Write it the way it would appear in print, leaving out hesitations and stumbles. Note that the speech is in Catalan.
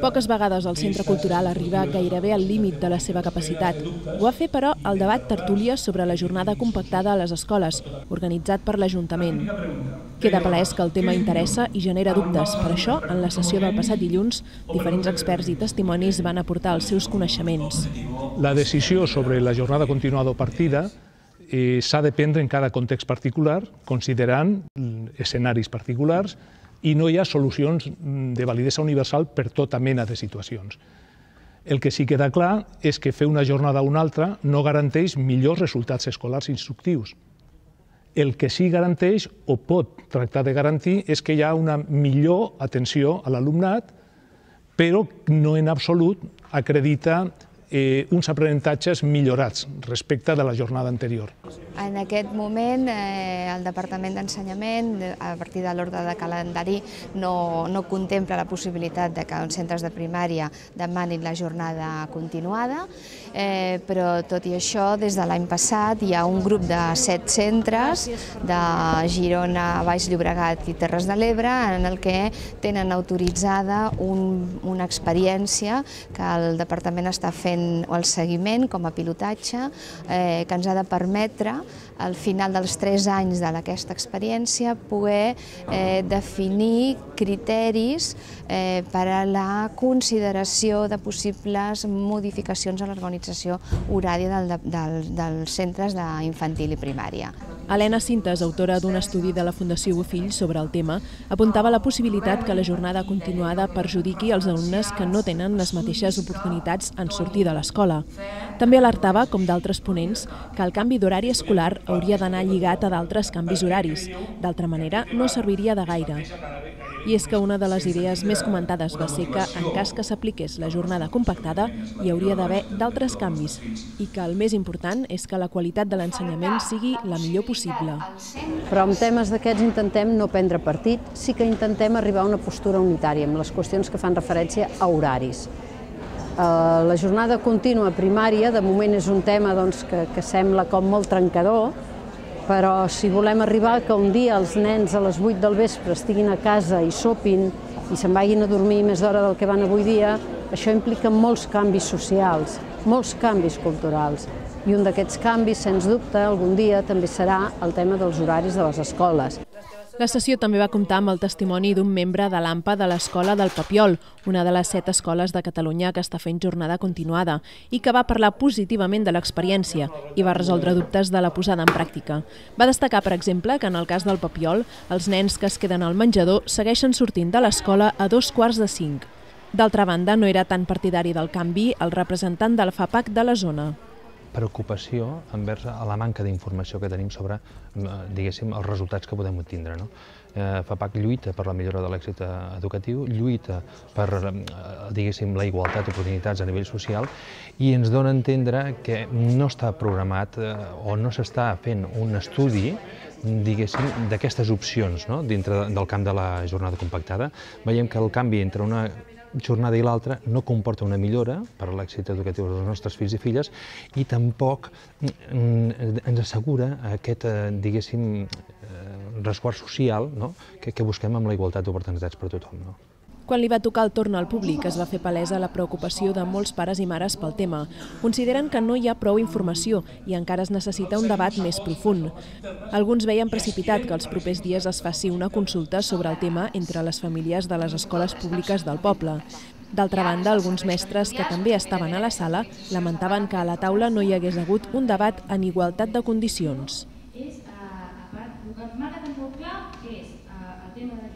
Poques vegades el Centre Cultural arriba gairebé al límit de la seva capacitat. Ho va fer, però, el debat tertúlia sobre la jornada compactada a les escoles, organitzat per l'Ajuntament. Queda palès que el tema interessa i genera dubtes. Per això, en la sessió del passat dilluns, diferents experts i testimonis van aportar els seus coneixements. La decisió sobre la jornada continuada o partida s'ha de prendre en cada context particular, considerant escenaris particulars, i no hi ha solucions de validesa universal per tota mena de situacions. El que sí queda clar és que fer una jornada o una altra no garanteix millors resultats escolars instructius. El que sí garanteix, o pot tractar de garantir, és que hi ha una millor atenció a l'alumnat, però no en absolut acredita uns aprenentatges millorats respecte de la jornada anterior. En aquest moment, el Departament d'Ensenyament, a partir de l'ordre de calendari, no contempla la possibilitat que els centres de primària demanin la jornada continuada, però tot i això, des de l'any passat hi ha un grup de 7 centres de Girona, Baix Llobregat i Terres de l'Ebre en el que tenen autoritzada una experiència que el Departament està fent el seguiment com a pilotatge que ens ha de permetre al final dels 3 anys d'aquesta experiència poder definir criteris per a la consideració de possibles modificacions a l'organització horària dels centres d'infantil i primària. Helena Cintas, autora d'un estudi de la Fundació Bofill sobre el tema, apuntava la possibilitat que la jornada continuada perjudiqui els alumnes que no tenen les mateixes oportunitats en sortir de l'escola. També alertava, com d'altres ponents, que el canvi d'horari escolar hauria d'anar lligat a d'altres canvis horaris. D'altra manera, no serviria de gaire. I és que una de les idees més comentades va ser que, en cas que s'apliqués la jornada compactada, hi hauria d'haver d'altres canvis i que el més important és que la qualitat de l'ensenyament sigui la millor possible. Però en temes d'aquests intentem no prendre partit, sí que intentem arribar a una postura unitària amb les qüestions que fan referència a horaris. La jornada contínua primària, de moment és un tema que sembla com molt trencador, però si volem arribar que un dia els nens a les 8 del vespre estiguin a casa i sopin i se'n vagin a dormir més d'hora del que van avui dia, això implica molts canvis socials, molts canvis culturals. I un d'aquests canvis, sens dubte, algun dia també serà el tema dels horaris de les escoles. La sessió també va comptar amb el testimoni d'un membre de l'AMPA de l'Escola del Papiol, una de les 7 escoles de Catalunya que està fent jornada continuada, i que va parlar positivament de l'experiència i va resoldre dubtes de la posada en pràctica. Va destacar, per exemple, que en el cas del Papiol, els nens que es queden al menjador segueixen sortint de l'escola a 2:45. D'altra banda, no era tan partidari del canvi el representant del FAPAC de la zona. Preocupació envers a la manca d'informació que tenim sobre, diguéssim, els resultats que podem obtindre. FAPAC lluita per la millora de l'èxit educatiu, lluita per, diguéssim, la igualtat d'oportunitats a nivell social i ens dona a entendre que no està programat o no s'està fent un estudi, diguéssim, d'aquestes opcions dintre del camp de la jornada compactada. Veiem que el canvi entre una jornada i l'altra no comporta una millora per a l'èxit educatiu dels nostres fills i filles i tampoc ens assegura aquest, diguéssim, resguard social que busquem amb la igualtat d'oportunitats per a tothom. Quan li va tocar el torn al públic es va fer palesa la preocupació de molts pares i mares pel tema. Consideren que no hi ha prou informació i encara es necessita un debat més profund. Alguns veien precipitat que els propers dies es faci una consulta sobre el tema entre les famílies de les escoles públiques del poble. D'altra banda, alguns mestres que també estaven a la sala lamentaven que a la taula no hi hagués hagut un debat en igualtat de condicions. El que m'ha quedat molt clar és el tema de